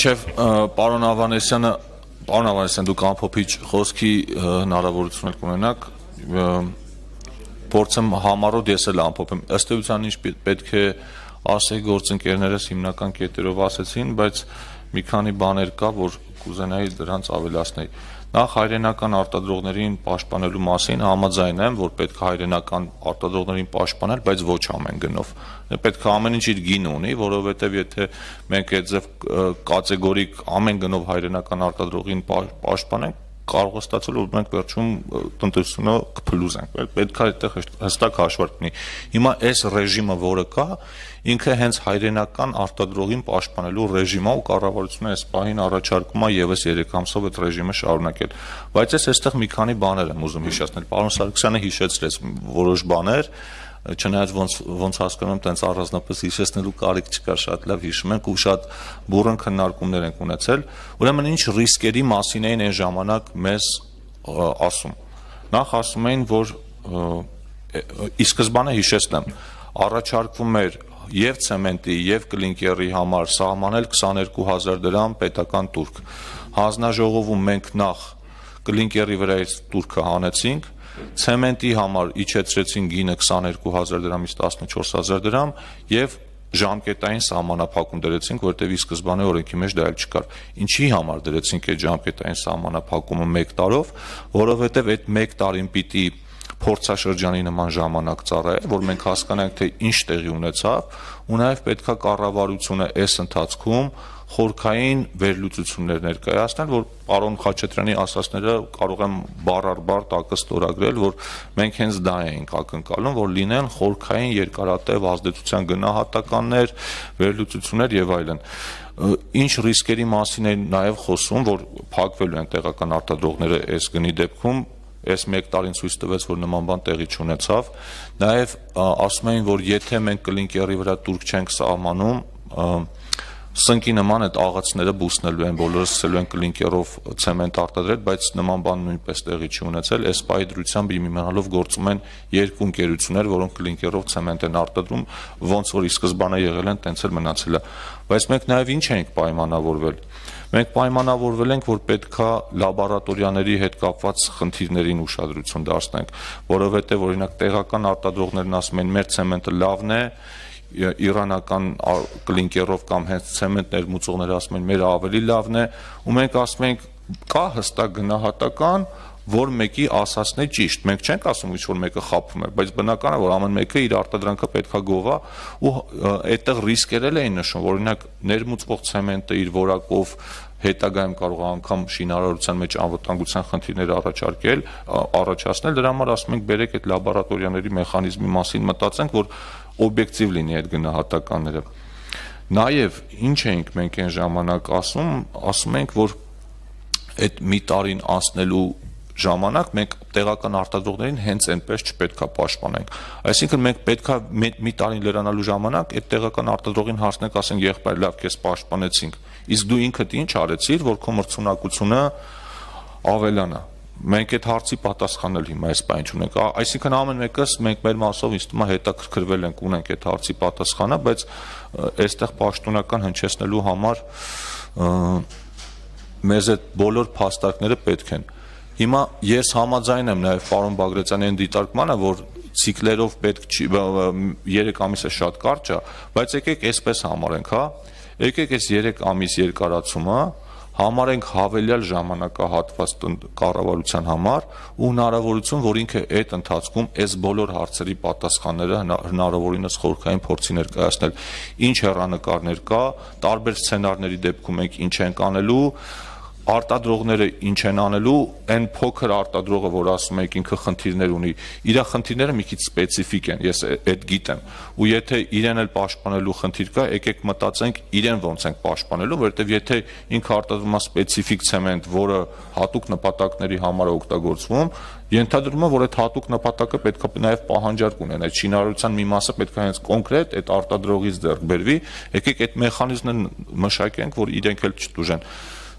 Մինչև պարոն Ավանեսյան դուք ամփոփիչ խոսքի հնարավորություն եք ունենաք, փորձեմ համառոտ ես էլ ամփոփեմ, ըստ էության ինչ պետք է ասեի գործընկերներս հիմնական կետերով ասեցին, բայց մի քանի բաներ կա, որ կուզենայի դրանց ավելացնել։ Նախ հայրենական արտադրողներին պաշտպանելու մասին համաձայն եմ, որ պետք է հայրենական արտադրողներին պաշտպանել, բայց ոչ ամեն գնով։ Պետք է ամեն ինչ իր գինը ունի, որովհետև եթե մենք այդ ձև կատեգորիկ ամեն գնով հայրենական արտադրողին պաշտպանենք, կարող է ստացել, որ մենք վերջում տնտեսությունը կփլուզենք։ Պետք է այդտեղ հստակ հաշվարկ լինի։ Հիմա այս ռեժիմը, որը կա, ինքը հենց հայրենական արտադրողին պաշտպանելու ռեժիմը ու կառավարությունը այս պահին առաջարկում է եւս 3 ամսով այդ ռեժիմը շարունակել։ Բայց ես այստեղ մի քանի բաներ եմ ուզում հիշեցնել։ Պարոն Սարգսյանը հիշեցրեց որոշ բաներ, չնայած ոնց հասկանում եմ, տենց առանձնապես հիշեցնելու կարիք չկա, շատ լավ հիշում ենք ու շատ բուռն քննարկումներ ենք ունեցել։ Ուրեմն ինչ ռիսկերի մասին էին այն ժամանակ մեզ ասում։ Նախ ասում էին, որ ի սկզբանե հիշեցնեմ, առաջարկվում էր եւ ցեմենտի եւ կլինկերի համար սահմանել 22000 դրամ պետական տուրք։ Հանձնաժողովում մենք նախ կլինկերի վրայից տուրքը հանեցինք, ցեմենտի համար իջեցրեցին գինը 22000 դրամից 14000 դրամ եւ ժամկետային սահմանափակում դրեցինք, որտեղ ի սկզբանե օրենքի մեջ դա էլ չկար։ Ինչի համար դրեցինք այդ ժամկետային սահմանափակումը 1 տարով, որովհետեւ այդ 1 տարին պիտի փորձաշրջանի նման ժամանակ ծառայել, որ մենք հասկանանք, թե ինչ տեղի ունեցավ, ու նաև պետքա կառավարությունը այս ընթացքում խորքային վերլուծություններ ներկայացնել, որ պարոն Խաչատրյանի ասածները կարող եմ բառ առ բառ տակը ստորագրել, որ մենք հենց դա էինք ակնկալում, որ լինեն խորքային երկարատև ազդեցության գնահատականներ, վերլուծություններ եւ այլն։ Ինչ ռիսկերի մասին է նաև խոսում, որ փակվելու են տեղական արտադրողները այս գնի դեպքում, այս 1 տարին ցույց տվեց, որ նման բան տեղի չունեցավ։ Նաև ասում էին, որ եթե մենք կլինկերի վրա տուրք չենք սահմանում, սնկի նման այդ աղացները բուսնելու են, բոլորը սկսելու են կլինկերով ցեմենտ արտադրել, բայց նման բան նույնպես տեղի չի ունեցել։ Այս պահի դրությամբ իմանալով գործում են 2 ընկերություններ, որոնք կլինկերով ցեմենտ են արտադրում, ոնց որ ի սկզբանե եղել են, տենց էլ մնացել է։ Բայց մենք նաև ինչ ենք պայմանավորվել։ Մենք պայմանավորվել ենք, որ պետքա լաբորատորիաների հետ կապված խնդիրներին ուշադրություն դարձնենք, որովհետև օրինակ տեղական արտադրողներն ասում են, մեր ցեմենտը լավն է, իրանական կլինկերով կամ հենց ցեմենտ ներմուծողները ասում են, մեր ավելի լավն է, ու մենք ասում ենք, կա հստակ գնահատական, որ մեկի ասածն է ճիշտ։ Մենք չենք ասում, որ մեկը խաբում է, բայց բնական է, որ ամեն մեկը իր արտադրանքը պետքա գովա, ու այդտեղ ռիսկեր էին նշում, որ օրինակ ներմուծվող ցեմենտը իր որակով հետագայում կարող է անգամ շինարարության մեջ անվտանգության խնդիրներ առաջացնել, դրա համար ասում ենք, բերեք այդ լաբորատորիաների մեխանիզմի մասին մտածենք, որ օբյեկտիվ լինի այդ գնահատականները։ Նաև ինչ էինք մենք այն ժամանակ ասում ենք, որ այդ մի տարին անցնելու ժամանակ մենք տեղական արտադրողներին հենց այնպես չպետքա պաշտպանենք։ Այսինքն մենք պետքա մի տարին լրանալու ժամանակ այդ տեղական արտադրողին հասնենք, ասենք, եղբայր, լավ, քեզ պաշտպանեցինք, իսկ դու ինքդ ինչ արեցիր, որ քո մրցունակությունը ավելանա։ Մենք այդ հարցի պատասխանել հիմա այս բանը չունենք։ Այսինքն ամեն մեկս մենք մեր մասով ինձ թվում է հետաքրքրվել ենք, ունենք այդ հարցի պատասխանը, բայց այստեղ պաշտոնական հնչեցնելու համար մեզ այդ բոլոր փաստարկները պետք են։ Հիմա ես համաձայն եմ նաև պարոն Բագրատյանի այն դիտարկմանը, որ ցիկլերով պետք չի 3 ամիսը շատ կարճ է, բայց եկեք այսպես համարենք, հա։ Եկեք այս 3 ամիս երկարացումը համարենք հավելյալ ժամանակահատված կառավարության համար ու հնարավորություն, որ ինքը այդ ընթացքում այս բոլոր հարցերի պատասխանները հնարավորինս խորքային փորձի ներկայացնել։ Ինչ հեռանկարներ կա, տարբեր սցենարների դեպքում մենք ինչ ենք անելու, արտադրողները ինչ են անելու, այն փոքր արտադրողը, որ ասում եք ինքը խնդիրներ ունի, իր խնդիրները մի քիչ սպეციფიկ են, ես այդ գիտեմ, ու եթե իրեն էլ պաշտպանելու խնդիր կա, եկեք մտածենք իրեն ոնց ենք պաշտպանելու, որովհետև եթե ինքը արտադրում է սպეციფიկ ցեմենտ, որը հատուկ նպատակների համար է օգտագործվում, ենթադրում է, որ այդ հատուկ նպատակը պետք է նաև պահանջարկ ունենա, այդ շինարարության մի մասը պետք է հենց կոնկրետ այդ արտադրողից ձեռք բերվի, եկեք այդ մեխանիզմը մշակենք, որ իրենք էլ չտուժեն։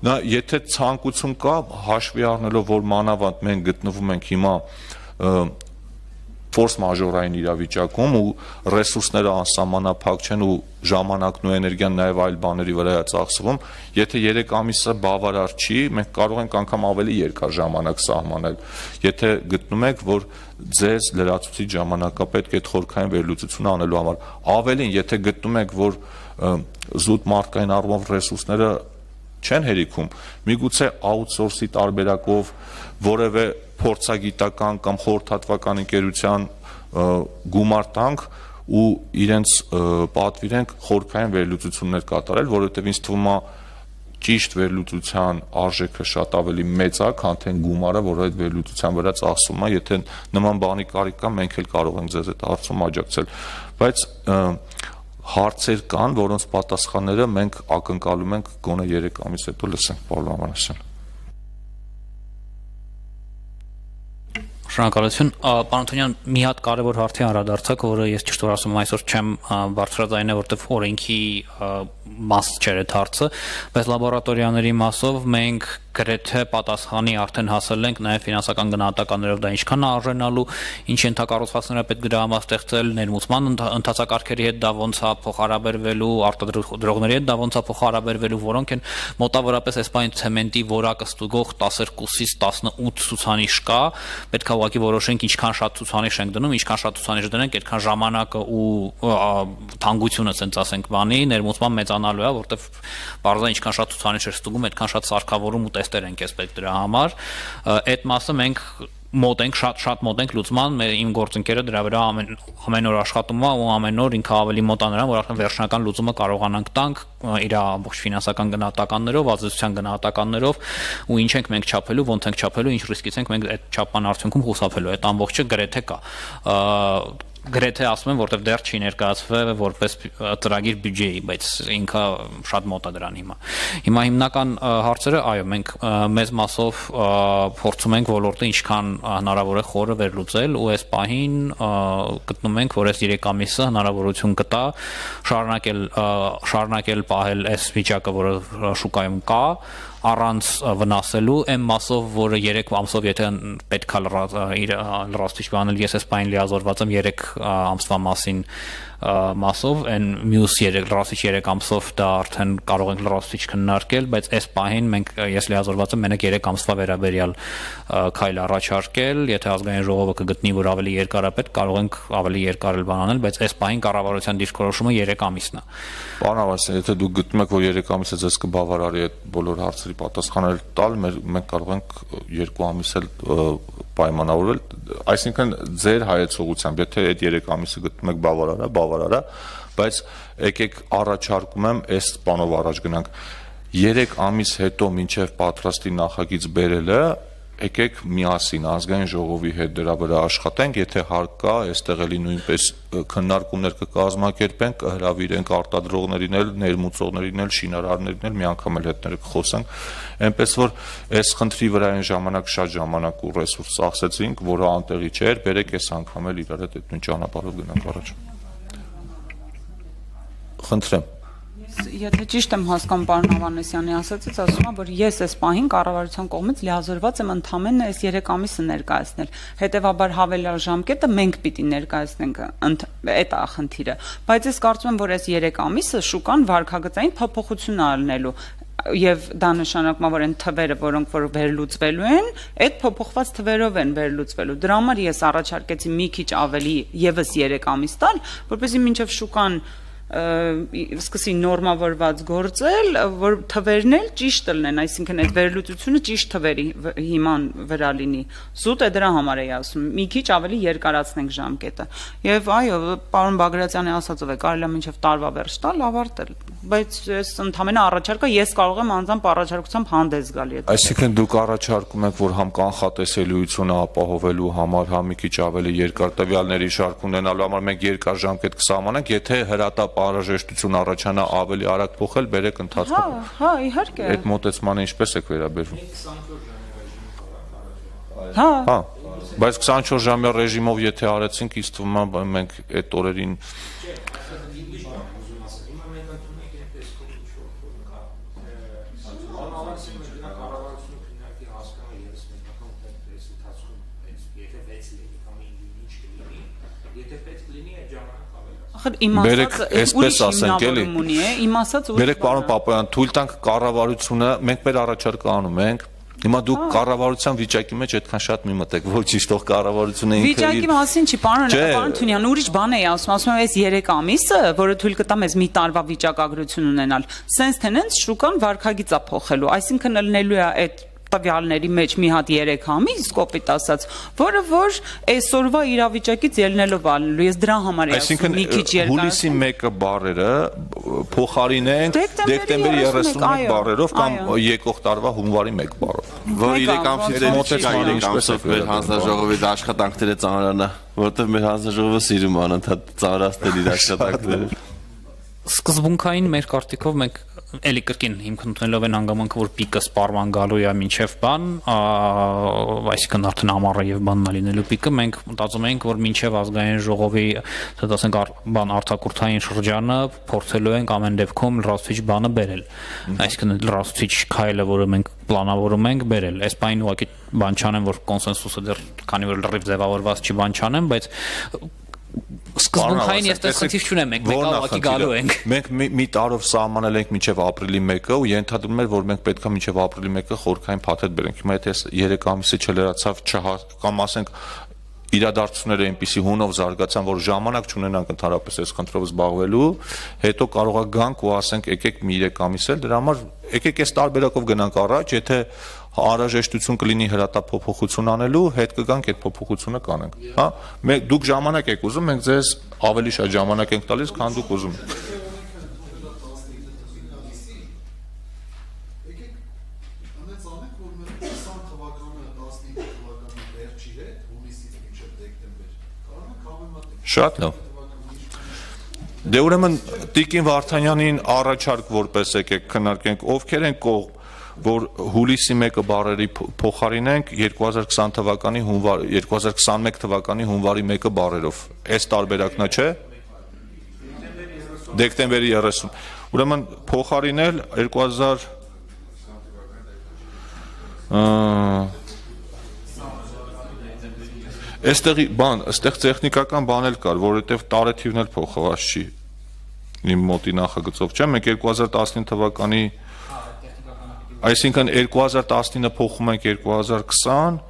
Նա եթե ցանկություն կա, հաշվի առնելով, որ մանավանդ մենք գտնվում ենք հիմա ֆորս մաժորային իրավիճակում ու ռեսուրսները անսահմանափակ չեն ու ժամանակն ու էներգիան նաև այլ բաների վրա է ծախսվում, եթե 3 ամիսը բավարար չի, մենք կարող ենք անգամ ավելի երկար ժամանակ սահմանել, եթե գտնում եք, որ ձեզ լրացուցիչ ժամանակա պետք է այդ խորքային վերլուծությունը անելու համար, ավելին, եթե գտնում եք, որ զուտ մարդկային առումով ռեսուրսները չեն հերիքում, միգուցե outsource-ի տարբերակով որևէ փորձագիտական կամ խորհրդատվական ընկերության գումար տանք ու իրենց պատվիրենք խորքային վերլուծություններ կատարել, որովհետև ինձ թվում է ճիշտ վերլուծության արժեքը շատ ավելի մեծ է, քան թե գումարը, որը այդ վերլուծության վրա ծախսվում է, եթե նման բանի կարիք կա, մենք էլ կարող ենք ձեզ այդ հարցում աջակցել, բայց հարցեր կան, որոնց պատասխանները մենք ակնկալում ենք գոնե 3 ամիս հետո լսենք, պարոն Ավանեսյան։ Շնորհակալություն, պարոն Թունյան, մի հատ կարևոր հարցի անդրադարձակ, որը ես ճիշտ որ ասում եմ այսօր չեմ բարձրաձայնել, որտեղ օրենքի մաս չէր այդ հարցը, բայց լաբորատորիաների մասով մենք գրեթե պատասխանի արդեն հասել ենք նաև ֆինանսական գնահատականներով դա ինչքան արժանալու, ինչ ենթակառուցվածքները պետք դրամաստեղծել, ներմուծման ընթացակարգերի հետ դա ոնց է փոխհարաբերվելու, արտադրողների հետ դա ոնց է փոխհարաբերվելու, որոնք են մոտավորապես այսպես ցեմենտի որակը ստուգող 12-ից 18 ցուցանիշ կա, պետք է ուղղակի որոշենք ինչքան շատ ցուցանիշ ենք դնում, ինչքան շատ ցուցանիշ դնենք, այդքան ժամանակը ու թանկությունը, ասենք ասենք բանի ներմուծման մեծանալու է, որտեվ բարձր ինչքան շատ ցուցանիշ է ստուգում, այդքան շատ սարքավորում ու տեստեր ենք էսպեկտ դրա համար, այդ մասը մենք մոտ ենք, շատ մոտ ենք լուծման, իմ գործընկերը դրա վրա ամեն օր աշխատում է ու ամեն օր ինքը ավելի մոտ է նրան, որ արդեն վերջնական լուծումը կարողանանք տանք իր ամբողջ ֆինանսական գնահատականներով, ազդեցության գնահատականներով ու ինչ ենք մենք չափելու, ոնց ենք չափելու, ինչ ռիսկից ենք մենք այդ չափման արդյունքում խուսափելու, այդ ամբողջը գրեթե կա։ Գրեթե ասում եմ, որտեվ դեռ չի ներկայացվել որպես ծրագիր բյուջեի, բայց ինքը շատ մոտ է դրան հիմա։ Հիմա հիմնական հարցերը, այո, մենք մեծ մասով փորձում ենք ոլորտը ինչքան հնարավոր է խորը վերլուծել ու այս պահին գտնում ենք, որ այս 3 ամիսը հնարավորություն կտա շարունակել պահել այս վիճակը, որը շուկայում կա, առանց վնասելու այն մասով, որը 3 ամսով եթե պետք է լրացուցիչ բանել, ես այս պահին լիազորված եմ 3 ամսվա մասով, այն մյուս լրացուցիչ 3 ամսով դա արդեն կարող ենք լրացուցիչ քննարկել, բայց այս պահին ես լիազորված եմ մենակ 3 ամսվա վերաբերյալ քայլ առաջարկել, եթե ազգային ժողովը կգտնի, որ ավելի երկար է պետք, կարող ենք ավելի երկար էլ բան անել, բայց այս պահին կառավարության դիրքորոշումը 3 ամիսն է։ Պարոն Ավանեսյան, եթե դուք գտնում եք, որ 3 ամիսը ձեզ կբավարարի այդ բոլոր հարցերի պատասխանել տալ, մենք կարող ենք 2 ամիս էլ պայմանավորվել, այսինքն ձեր հայեցողությամբ, եթե այդ 3 ամիսը գտնում եք բավարար է, բայց եկեք առաջարկում եմ այս բանով առաջ գնանք 3 ամիս հետո մինչև պատրաստի նախագիծ բերելը եկեք միասին ազգային ժողովի հետ դրա վրա աշխատենք, եթե հարկ կա, այստեղ էլի նույնպես քննարկումներ կկազմակերպենք, կհրավիրենք արտադրողներին էլ, ներմուծողներին էլ, շինարարներին էլ, մի անգամ էլ հետները կխոսենք, այնպես որ այս խնդրի վրա այն ժամանակ շատ ժամանակ ու ռեսուրս ծախսեցինք, որը անտեղի չէր, բերեք այս անգամ էլ իրար հետ այդ նույն ճանապարհով գնանք առաջ։ Խնդրեմ։ Եթե ճիշտ եմ հասկանում պարոն Ավանեսյանի ասածից, ասում եմ, որ ես այս պահին կառավարության կողմից լիազորված եմ ընդամենը այս 3 ամիսը ներկայացնել։ Հետևաբար հավելյալ ժամկետը մենք պիտի ներկայացնենք, այդ է խնդիրը։ Բայց ես կարծում եմ, որ այս 3 ամիսը շուկան վարքագծային փոփոխություն արնելու եւ դա նշանակում է, որ այն թվերը, որոնք որ վերլուծվելու են, այդ փոփոխված թվերով են վերլուծվելու։ Դրա համար ես առաջարկեցի մի քիչ ավելի եւս 3 ամիս տալ, որպեսզի մինչեւ շուկան սկսի նորմավորված գործել, որ թվերն էլ ճիշտ լինեն, այսինքն այդ վերլուծությունը ճիշտ թվերի հիման վրա լինի։ Զուտ է դրա համար էի ասում, մի քիչ ավելի երկարացնենք ժամկետը։ Եվ այո, պարոն Բագրատյանի ասածով է, կարելի է մինչև տարվա վերջ տալ, ավարտել, բայց ես ընդհանրապես առաջարկը ես կարող եմ անձամբ առաջարկությամբ հանդես գալ։ Այսինքն դուք առաջարկում եք, որ համ կանխատեսելիությունը ապահովելու համար, համ մի քիչ ավելի երկար տվյալների շարք ունենալու համար մենք երկար ժամկետ կսահմանենք, եթե հրատապ անհրաժեշտություն առաջանա ավելի արագ փոխել, բերեք ընթացքում։ Հա, իհարկե։ Այդ մոտեցմանը ինչպես եք վերաբերվում։ Հա։ Բայց 24 ժամյա ռեժիմով եթե արեցինք, ինձ թվում է մենք այդ օրերին Բերեք այսպես ասենք էլի։ Իմ ասած ուրիշ Բերեք պարոն Պապոյան, թույլ տանք կառավարությունը, մենք մեր առաջարկը անում ենք։ Հիմա դուք կառավարության վիճակի մեջ այդքան շատ մի մտեք, որ ճիշտ ող կառավարությունը ինքը վիճակի մասին չի, պարոն Թունյան, ուրիշ բան էի ասում եմ, այս 3 ամիսը, որը թույլ կտա մեզ մի տարվա վիճակագրություն ունենալ, սենց թե նենց շուկան վարքագիծ է փոխելու, այսինքն ելնելու է այդ տվյալների մեջ մի հատ 3 ամիս, կոպիտ ասած, որը որ այսօրվա իրավիճակից ելնելով ալնելու, ես դրա համար եմ ասում, մի քիչ երկար։ Հուլիսի 1-ը բառերը փոխարինենք դեկտեմբերի 31 բառերով կամ եկող տարվա հունվարի 1 բառով։ Որ 3 ամսից մոտեցան ինչպես մեր հանձնաժողովի աշխատանքները ծանրանա, որովհետև մեր հանձնաժողովը սիրում անընդհատ ծանրացնել իր աշխատանքները։ Սկզբունքային մեր կարտիկով մենք էլի կրկին հիմք ընդունելով են հանգամանքը, որ պիկը սպառման գալու է մինչև բան, այսինքն արդեն ամառը եւ բանն է լինելու պիկը, մենք մտածում ենք, որ մինչև ազգային ժողովի, ասենք բան արտակուրթային շրջանը փորձելու ենք ամեն դեպքում լրացուցիչ բանը բերել։ Այսինքն լրացուցիչ քայլը, որը մենք պլանավորում ենք բերել։ Այս բանը ուղղակի բան չանեմ, որ կոնսենսուսը դեռ քանի որ լրիվ ձևավորված չի բան չանեմ, բայց սկզբունքային ես տեսքիվ չունեմ, մենք ուղղակի գալու ենք։ Մենք մի տարով սահմանել ենք մինչև ապրիլի 1-ը ու ենթադրում էր, որ մենք պետքա մինչև ապրիլի 1-ը խորքային փաթեթ բերենք։ Հիմա եթե 3 ամիսը չլրացավ, կամ ասենք իրադարձությունները այնպիսի հունով զարգացան, որ ժամանակ չունենանք ընդհանրապես այս խնդրով զբաղվելու, հետո կարողա գանք ու ասենք եկեք մի 3 ամիս էլ դրա համար եկեք այս տարբերակով գնանք առաջ, եթե անհրաժեշտություն կլինի հրատապ-փոփոխություն անելու, հետ կգանք այդ փոփոխությունը կանենք, հա։ Դուք ժամանակ եք ուզում, մենք ձեզ ավելի շատ ժամանակ ենք տալիս, քան դուք ուզում եք։ Շատ լավ։ Դե ուրեմն Տիկին Վարդանյանին առաջարկ որպես եկեք քննարկենք, ովքեր են կողմ, որ հուլիսի 1-ը բառերի փոխարինենք 2020 թվականի հունվար 2021 թվականի հունվարի 1-ը բառերով։ Այս տարբերակն է, չէ՞։ Դեկտեմբերի 30։ Ուրեմն փոխարինել 2000 Այստեղի բան, այստեղ տեխնիկական բան էլ կար, որովհետև տարեթիվն էլ փոխված չի։ Իմ մոտի նախագծով չէ, մենք 2019 թվականի, այսինքն 2019-ը փոխում ենք 2020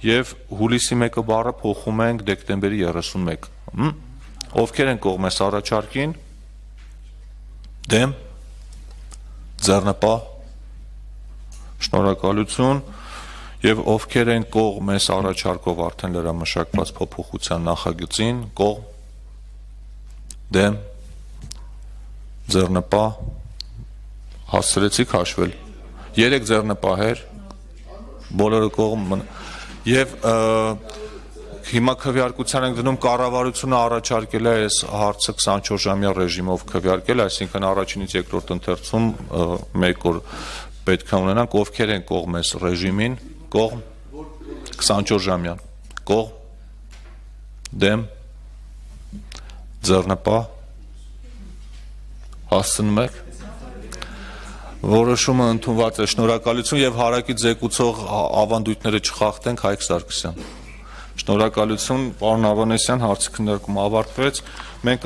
եւ հուլիսի 1-ը բառը փոխում ենք դեկտեմբերի 31։ Ովքեր են կողմ այս առաջարկին։ Դեմ, ձեռնպահ, շնորհակալություն։ Եվ ովքեր են կողմ այս առաջարկով արդեն լրամշակված փոփոխության նախագծին, կողմ, դեմ, ձեռնպահ, հասցրեցիք հաշվել, 3 ձեռնպահեր, բոլորը կողմ, եւ հիմա քվեարկության ենք դնում կառավարությունը առաջարկել է այս հարցը 24 ժամյա ռեժիմով քվեարկել, այսինքն առաջինից երկրորդ ընթերցում 1 օր պետք է ունենանք, ովքեր են կողմ այս ռեժիմին, կողմ 24 ժամյան, կողմ, դեմ, ձեռնպահ, հասցնում եք, որոշումը ընդունված է, շնորհակալություն եւ հարակից զեկուցող ավանդույթները չխախտենք, Հայկ Սարգսյան։ Շնորհակալություն, պարոն Ավանեսյան, հարցի քննարկումը ավարտվեց։ Մենք